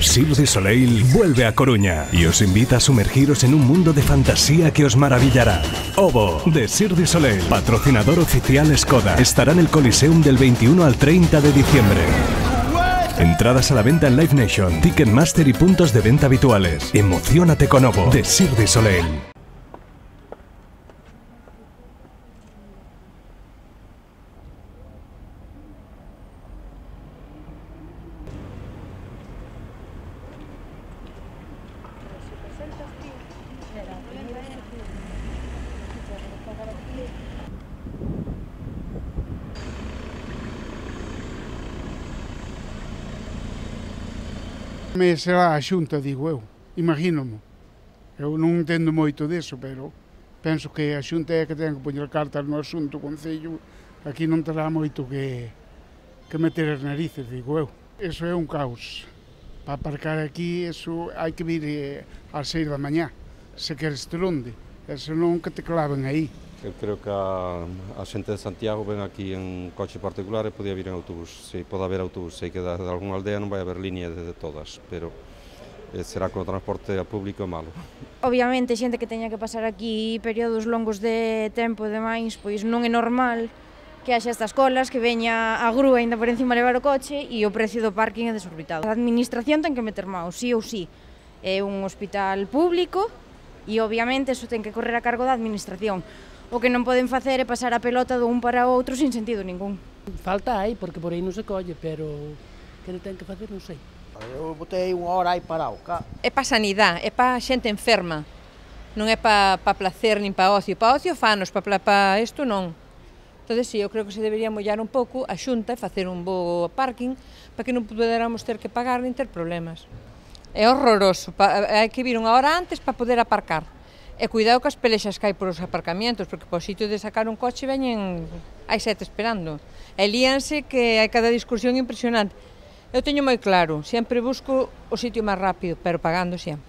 Cirque du Soleil vuelve a Coruña y os invita a sumergiros en un mundo de fantasía que os maravillará. Ovo, de Cirque du Soleil, patrocinador oficial Skoda, estará en el Coliseum del 21 al 30 de diciembre. Entradas a la venta en Live Nation, Ticketmaster y puntos de venta habituales. Emociónate con Ovo, de Cirque du Soleil. Me será a Xunta, digo eu, imagínome. Eu non entendo moito disso, pero penso que a Xunta é que ten que poñer cartas no asunto, o Concello aquí non terá moito que meter as narices, digo eu. Eso é un caos. Para aparcar aquí, eso hai que vir ás 6 da mañá, se queres ter onde, e senón que te claven aí. Eu creo que a xente de Santiago ven aquí en coche particular e podía vir en autobús. Se pode haber autobús, sei que de algunha aldea non vai haber línea de todas, pero será que o transporte público é malo. Obviamente, xente que teña que pasar aquí períodos longos de tempo e demais, pois non é normal que haxa estas colas, que veña a grúa ainda por encima levar o coche e o precio do parking é desorbitado. A administración ten que meter mão, sí ou sí. É un hospital público e obviamente eso ten que correr a cargo da administración. O que non poden facer é pasar a pelota dun para outro sin sentido ningún. Falta hai, porque por aí non se colle, pero que ten que facer non sei. Eu botei unha hora aí parado. É para sanidade, é para xente enferma. Non é para placer nin para ocio. Para ocio fanos, para isto non. Entón, sí, eu creo que se debería mollar un pouco a Xunta e facer un bo parking para que non poderamos ter que pagar nin ter problemas. É horroroso, hai que vir unha hora antes para poder aparcar. E cuidado cas pelexas que hai por os aparcamientos, porque por sitio de sacar un coche veñen, hai 7 esperando. E líanse que hai cada discusión impresionante. Eu teño moi claro, sempre busco o sitio máis rápido, pero pagando sempre.